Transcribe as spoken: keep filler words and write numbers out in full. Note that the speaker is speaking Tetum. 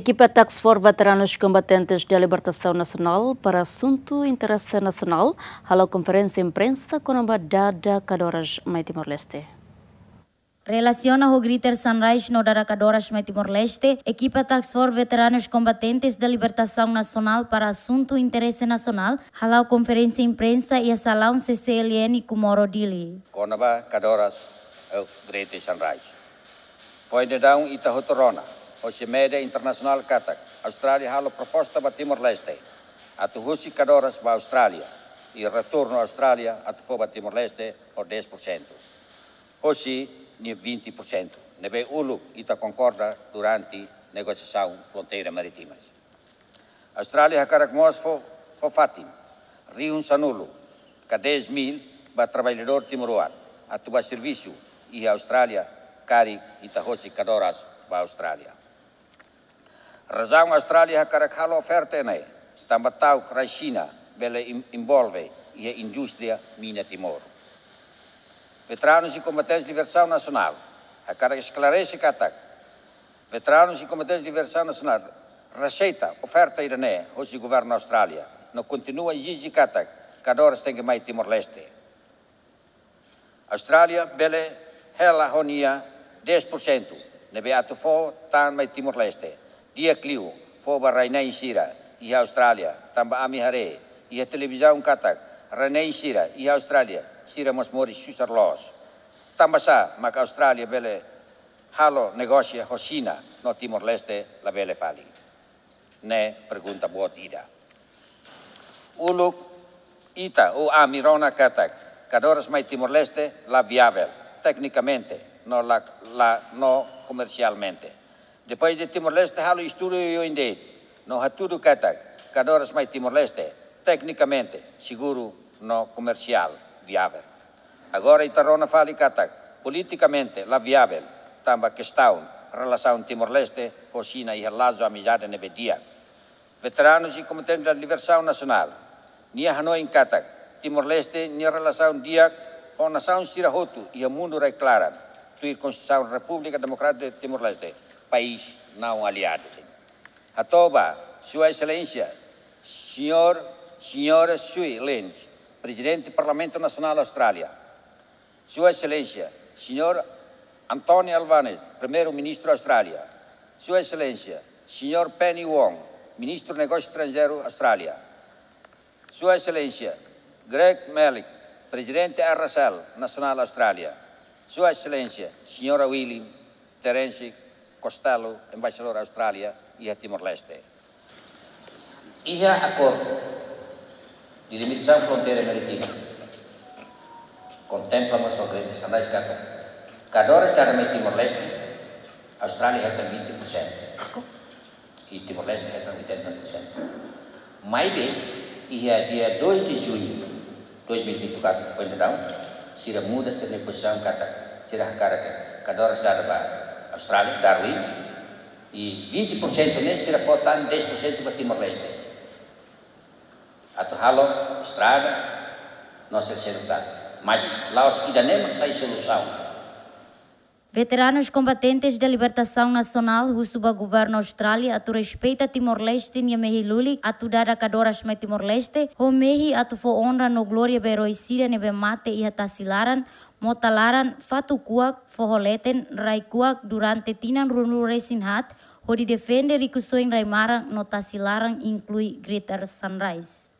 Ekipa Task Force Veteranus Kombatentes da Libertasaun Nasionál para Asuntu Interese Nasionál halo konferénsia imprensa kona-ba dada kadoras mai Timor-Leste. Relasiona ho Greater Sunrise no dada kadoras mai Timor-Leste, ekipa Task Force Veteranus Kombatentes da Libertasaun Nasionál para Asuntu Interese Nasionál hala'o konferénsia imprensa iha salaun C C L N Comoro, Dili. Kona-ba kadoras, eh, Greater Sunrise. Foin daudaun ita hotu rona hosi média internasionál katak Austrália halo proposta ba Timor-Leste atu husik kadoras ba Austrália, i retornu Austrália atu fó ba Timor-Leste ho dez por cento hosi nia vinte por cento, ne'ebé uluk ita konkorda durante negosiasaun fronteira marítimas. Austrália hakarak mós fó, fó fatin rihun sanulu ka dez mil ba traballadór timoroan atu ba servisu iha Austrália, karik ita husik kadoras ba Austrália. Razaun Austrália hakarak halo oferta ne'e, tanba ta'uk rai Xina bele in-, envolve iha indústria mina Timor. Veteranus i Kombatentes Libertasaun Nasionál hakarak esklarese katak veteranus i Kombatentes Libertasaun Nasionál rejeita oferta ida-ne'e hosi governu Austrália, no kontinua ezije katak kadoras tenke mai Timor-Leste. Austrália bele hela ho nia dez por cento ne'ebé atu fó tan mai Timor-Leste, di'ak liu fó ba rai-na'in sira iha Austrália, tanba ami haree iha televizaun katak rai-na'in sira iha Austrália sira mós moris susar loos. Tanbasá mak Austrália bele halo negósiu ho Xina no Timor-Leste labele fali? Ne'e pergunta boot ida. Uluk ita ou ami rona katak kadoras mai Timor-Leste la viável teknikamente, no la, la, no komersialmente. Depois de Timor-Leste halo estudu oioin de'it, no hatudu katak kadoras mai Timor-Leste teknikamente seguru no komersiál viável. Agora ita rona fali katak politikamente la viável, tanba kestaun relasaun Timor-Leste ho Xina iha lazu amizade ne'ebé di'ak. Veteranus i Kombatentes da Libertasaun Nasionál, nia hanoin katak Timor-Leste nia relasaun di'ak ho nasaun sira hotu iha mundu rai-klaran, tuir Konstituisaun Repúblika Demokrátika de Timor-Leste, país não aliado. Hato'o ba Sua Exelénsia Señór, Señora Sue Lynch, Prezidente Parlamentu Nasionál Austrália, Sua Exelénsia Señór Anthony Albanese, Primeiru-Ministru Austrália, Sua Exelénsia Señór Penny Wong, Ministru Negósiu Estranjeiru Austrália, Sua Exelénsia Greg Melich, Prezidente R S L Nasionál Austrália, Sua Exelénsia Señora William Terence Costello, Embaixadór Austrália iha Timor-Leste. Iha akordu delimitasaun fronteira marítima kontempla mós ho Greater Sunrise katak kadoras dada mai Timor-Leste, Austrália hetan vinte por cento i Timor-Leste hetan oitenta por cento. Maibé, iha dia dois de junho dois mil e vinte e quatro, foin daudaun, sira muda sira-nia pozisaun katak sira hakarak kadoras dada ba Austrália, Darwin, i vinte por cento ne'e sira fó tan dez por cento ba Timor-Leste atu halo estrada no sira seluk tan. Mas la'ós ida-ne'e mak sai solusaun. Veteranus Kombatentes da Libertasaun Nasionál husu ba governu Austrália atu respeita Timor-Leste nia mehi lulik atu dada kadoras mai Timor-Leste, ho mehi atu fó onra no glória ba eroi sira ne'ebé mate iha tasi laran, mota laran, fatuk kuak, foho leten, rai kuak durante tinan ruanulu-resin-haat, hodi defende rikusoin rai-maran no tasi laran, inklui Greater Sunrise.